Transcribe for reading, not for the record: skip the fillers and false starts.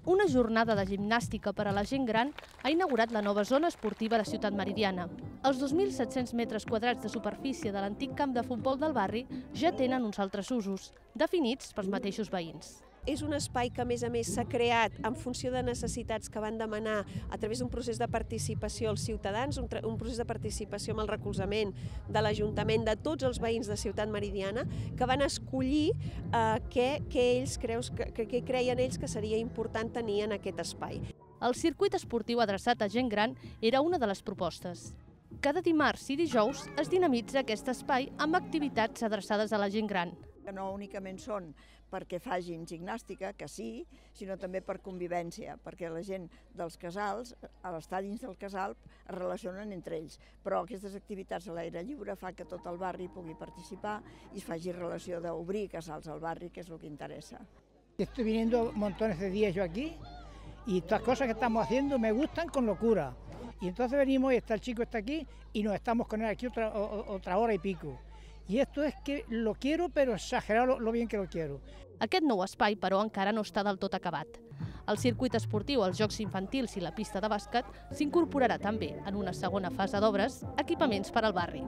Una jornada de gimnàstica per a la gent gran ha inaugurat la nova zona esportiva de Ciutat Meridiana. Els 2.700 metres quadrats de superfície de l'antic camp de futbol del barri ja tenen uns altres usos, definits pels mateixos veïns. És un espai que, a més, s'ha creat en funció de necessitats que van demanar a través d'un procés de participació als ciutadans, un procés de participació amb el recolzament de l'Ajuntament, de tots els veïns de Ciutat Meridiana, que van escollir què creien ells que seria important tenir en aquest espai. El circuit esportiu adreçat a gent gran era una de les propostes. Cada dimarts i dijous es dinamitza aquest espai amb activitats adreçades a la gent gran. No únicament són perquè facin gimnàstica, que sí, sinó també per convivència, perquè la gent dels casals, a l'estar dins del casal, es relacionen entre ells. Però aquestes activitats a l'aire lliure fa que tot el barri pugui participar i es faci relació d'obrir casals al barri, que és el que interessa. Estoy viniendo montones de días yo aquí y estas cosas que estamos haciendo me gustan con locura. Y entonces venimos y el chico está aquí y nos estamos con él aquí otra hora y pico. I esto es que lo quiero, pero exagerar lo bien que lo quiero. Aquest nou espai, però, encara no està del tot acabat. El circuit esportiu, els jocs infantils i la pista de bàsquet s'incorporarà també, en una segona fase d'obres, equipaments per al barri.